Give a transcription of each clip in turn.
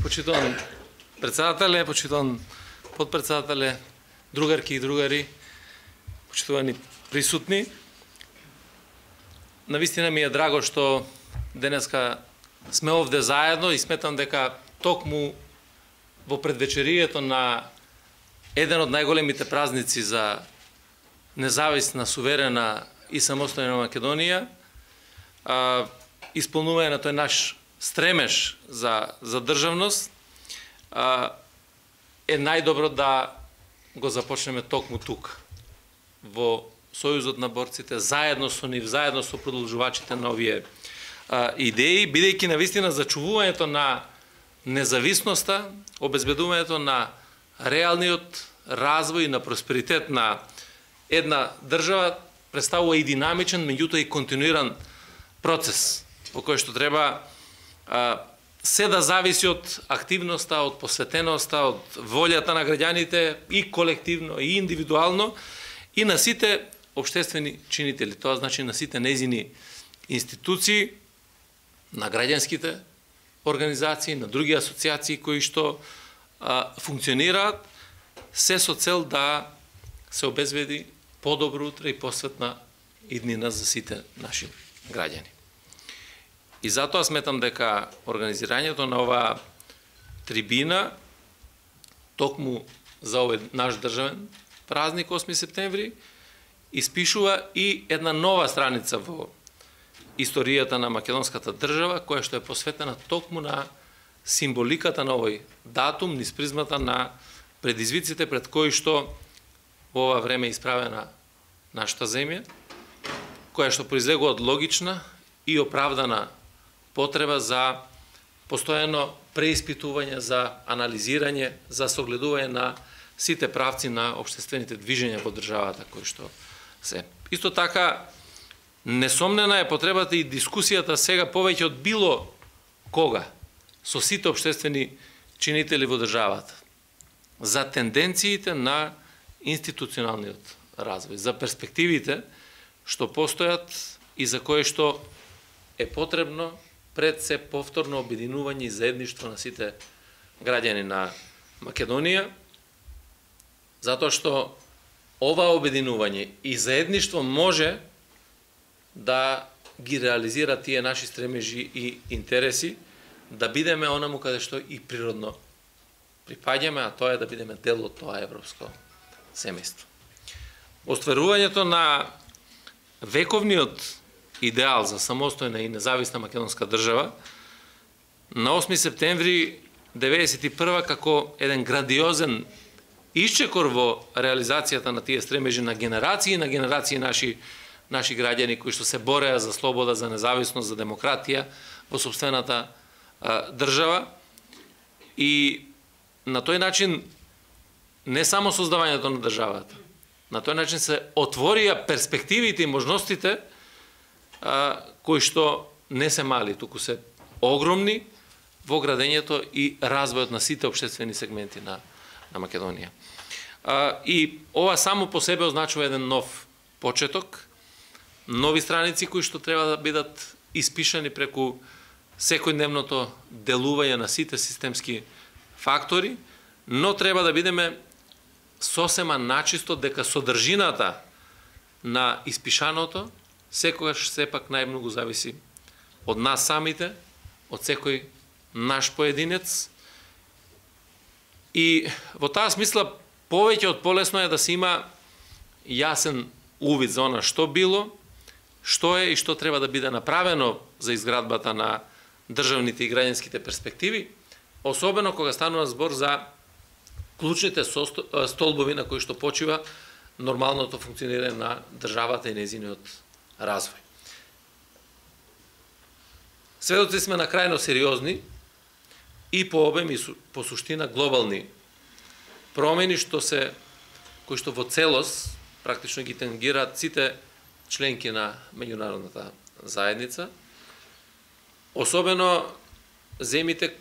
почитуван председателе, почитуван подпредседателе, другарки и другари, почитувани присутни. Навистина ми е драго што денеска сме овде заедно и сметам дека токму во предвечерието на еден од најголемите празници за независна, суверена и самостојна Македонија, исполнување на тој наш стремеж за државност, е најдобро да го започнеме токму тука, во Сојузот на борците, заедно со нив, заедно со продолжувачите на овие идеи, бидејќи навистина зачувувањето на независноста, обезбедувањето на реалниот развој и на просперитет на една држава представува и динамичен, меѓутоа и континуиран процес, по кој што треба се да зависи од активноста, од посветеноста, од волјата на граѓаните и колективно, и индивидуално, и на сите општествени чинители. Тоа значи на сите нејзини институции, на граѓанските организации, на други асоциации кои што функционираат, се со цел да се обезбеди подобро утре и посветна иднина за сите наши граѓани. И затоа сметам дека организирањето на оваа трибина, токму за овој наш државен празник 8 септември, испишува и една нова страница во историјата на македонската држава, која што е посветена токму на символиката на овој датум, низ призмата на предизвиците пред кои што во ова време е исправена нашата земја, која што произлегува од логична и оправдана потреба за постојано преиспитување, за анализирање, за согледување на сите правци на општествените движења во државата кои што се. Исто така, несомнена е потребата и дискусијата сега повеќе од било кога со сите општествени чинители во државата за тенденциите на институционалниот развој, за перспективите што постојат и за кое што е потребно пред се повторно обединување и заедништво на сите граѓани на Македонија, затоа што ова обединување и заедништво може да ги реализира тие наши стремежи и интереси, да бидеме онаму каде што и природно припаѓаме, а тоа е да бидеме дел од тоа европско семејство. Остварувањето на вековниот идеал за самостојна и независна македонска држава на 8 септември 1991 како еден грандиозен исчекор во реализацијата на тие стремежи на генерации наши граѓани кои што се бореа за слобода, за независност, за демократија во сопствената држава. И на тој начин не само создавањето на државата, на тој начин се отворија перспективите и можностите кои што не се мали, туку се огромни во градењето и развојот на сите општествени сегменти на Македонија. И ова само по себе означува еден нов почеток, нови страници кои што треба да бидат испишани преку секојдневното делување на сите системски фактори, но треба да бидеме сосема начисто дека содржината на испишаното секогаш сепак најмногу зависи од нас самите, од секој наш поединец. И во таа смисла повеќе од полесно е да се има јасен увид за она што било, што е и што треба да биде направено за изградбата на државните и граѓанските перспективи, особено кога станува збор за клучните столбови на кои што почива нормалното функционирање на државата и нејзиниот развој. Сведоци сме на крајно сериозни и по обем и по суштина глобални промени кои што во целост практично ги тангираат сите членки на меѓународната заедница, особено земите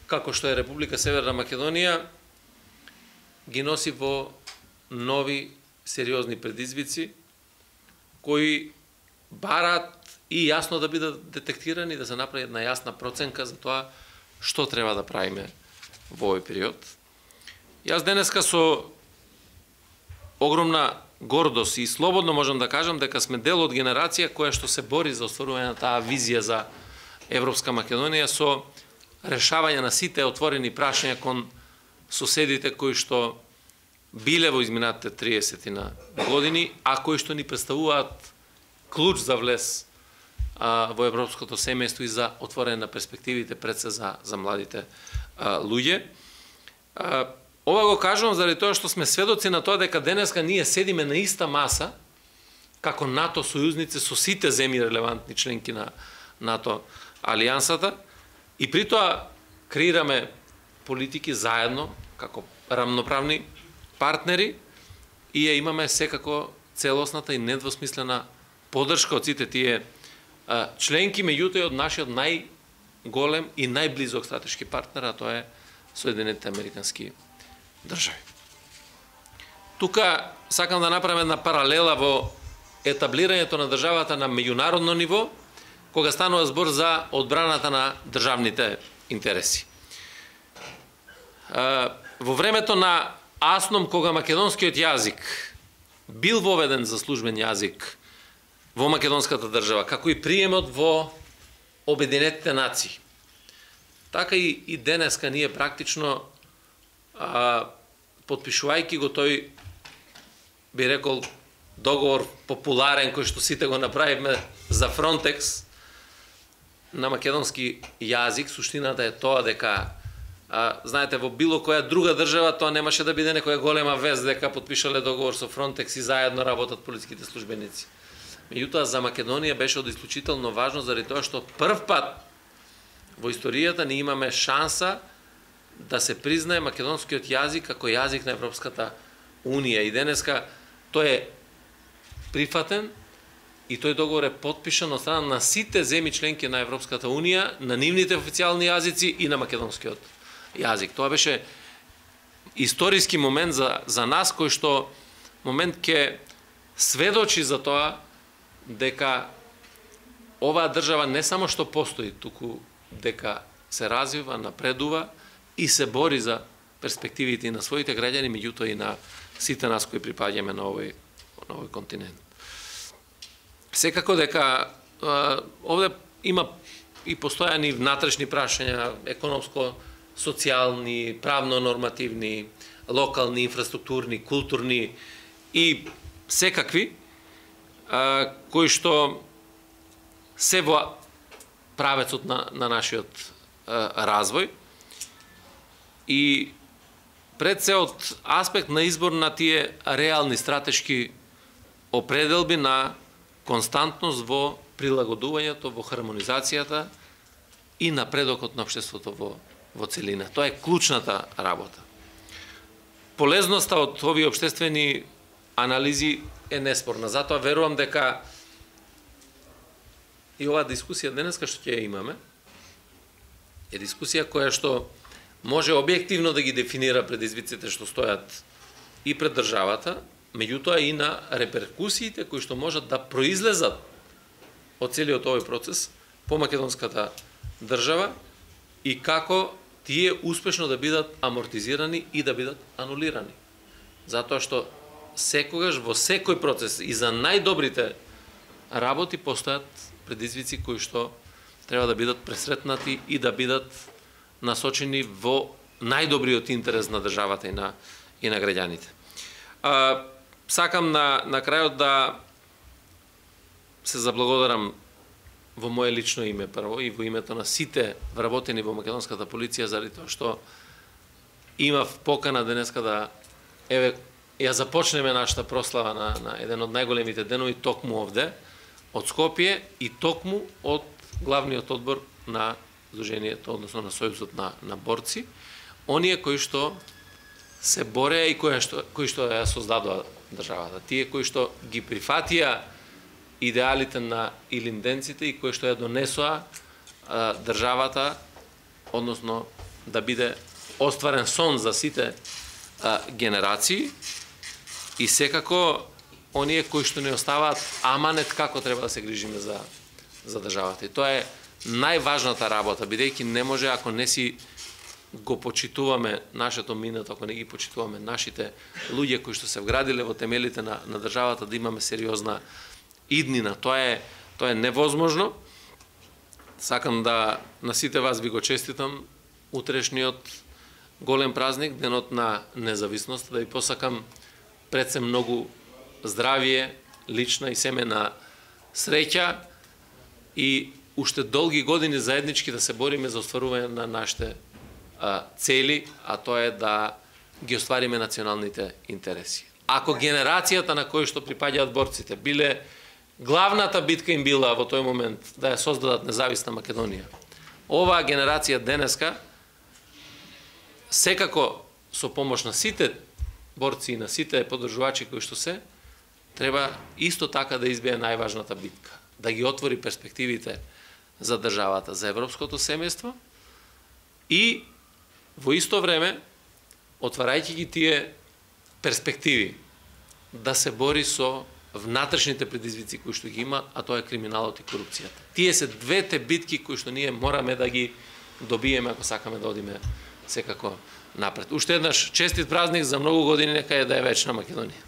како што е Република Северна Македонија ги носи во нови сериозни предизвици кои бараат и јасно да бидат детектирани, да се направи една јасна проценка за тоа што треба да правиме во овој период. Јас денеска со огромна гордост и слободно можам да кажам дека сме дел од генерација која што се бори за остварување на таа визија за Европска Македонија со решавање на сите отворени прашања кон соседите кои што биле во изминатите 30 години, а кои што ни представуваат клуч за влез во европското семејство и за отворење на перспективите пред се за младите луѓе. Ова го кажувам заради тоа што сме сведоци на тоа дека денеска ние седиме на иста маса како НАТО сојузници со сите земји релевантни членки на НАТО алијансата и при тоа креираме политики заедно како рамноправни партнери и ја имаме секако целосната и недвосмислена поддршка од сите тие членки, меѓутоа од нашиот најголем и најблизок стратешки партнер, а тоа е Соединетите Американски држави. Тука сакам да направам една паралела во етаблирањето на државата на меѓународно ниво, кога станува збор за одбраната на државните интереси. Во времето на Асном, кога македонскиот јазик бил воведен за службен јазик во македонската држава, како и приемот во Обединетите нации, така и денеска ние практично, подпишувајќи го тој, би рекол, договор популарен кој што сите го направивме за Фронтекс на македонски јазик, суштината е тоа дека знаете, во било која друга држава тоа немаше да биде некоја голема вест дека потпишале договор со Фронтекс и заедно работат полициските службеници. Меѓутоа за Македонија беше од исклучително важно заради тоа што прв пат во историјата ни имаме шанса да се признае македонскиот јазик како јазик на Европската Унија и денеска тој е прифатен и тој договор е потпишан од страна на сите земји членки на Европската Унија, на нивните официјални јазици и на македонскиот јазик. Тоа беше историски момент за нас, кој што момент ќе сведочи за тоа дека оваа држава не само што постои, туку дека се развива, напредува и се бори за перспективите и на своите граѓани, меѓутоа и на сите нас кои припаѓаме на овој континент. Секако дека овде има и постојани внатрешни прашања, економско, социјални, правно-нормативни, локални, инфраструктурни, културни и секакви, кои што се во правецот на нашиот развој и пред се од аспект на избор на тие реални стратешки определби на константност во прилагодувањето, во хармонизацијата и напредокот на општеството во целина. Тоа е клучната работа. Полезноста од овие општествени анализи е неспорна. Затоа верувам дека и оваа дискусија денеска што ќе ја имаме е дискусија која што може објективно да ги дефинира предизвиците што стојат и пред државата, меѓутоа и на реперкусиите кои што можат да произлезат од целиот овој процес по македонската држава и како тие успешно да бидат амортизирани и да бидат анулирани. Затоа што секогаш во секој процес и за најдобрите работи постојат предизвици кои што треба да бидат пресретнати и да бидат насочени во најдобриот интерес на државата и на граѓаните. Сакам на крајот да се заблагодарам во моje лично име прво и во името на сите вработени во македонската полиција заради тоа што имав покана денеска да ја започнеме нашата прослава на еден од најголемите денови токму овде од Скопје и токму од главниот одбор на Сдруженијето, односно на Сојузот на борци, оние кои што се бореа и кои што ја создадоа државата, тие кои што ги прифатија идеалите на илинденците и кои што ја донесоа државата, односно да биде остварен сон за сите генерации и секако оние кои што не оставаат аманет како треба да се грижиме за државата. И тоа е најважната работа, бидејќи не може ако не си го почитуваме нашето минато, ако не ги почитуваме нашите луѓе кои што се вградиле во темелите на државата, да имаме сериозна иднина. Тоа е невозможно. Сакам да на сите вас ви го честитам утрешниот голем празник, денот на независност, да ви посакам пред се многу здравие, лична и семена среќа и уште долги години заеднички да се бориме за остварување на нашите цели, а тоа е да ги оствариме националните интереси. Ако генерацијата на кои што припаѓаат борците биле главната битка им била во тој момент да ја создадат независна Македонија, оваа генерација денеска секако со помош на сите борци и на сите поддржувачи кои што се, треба исто така да избие најважната битка, да ги отвори перспективите за државата, за европското семејство и во исто време, отварајќи ги тие перспективи, да се бори со внатрешните предизвици кои што ги има, а тоа е криминалот и корупцијата. Тие се двете битки кои што ние мораме да ги добиеме ако сакаме да одиме секако напред. Уште еднаш честит празник за многу години, нека е да е вечна Македонија.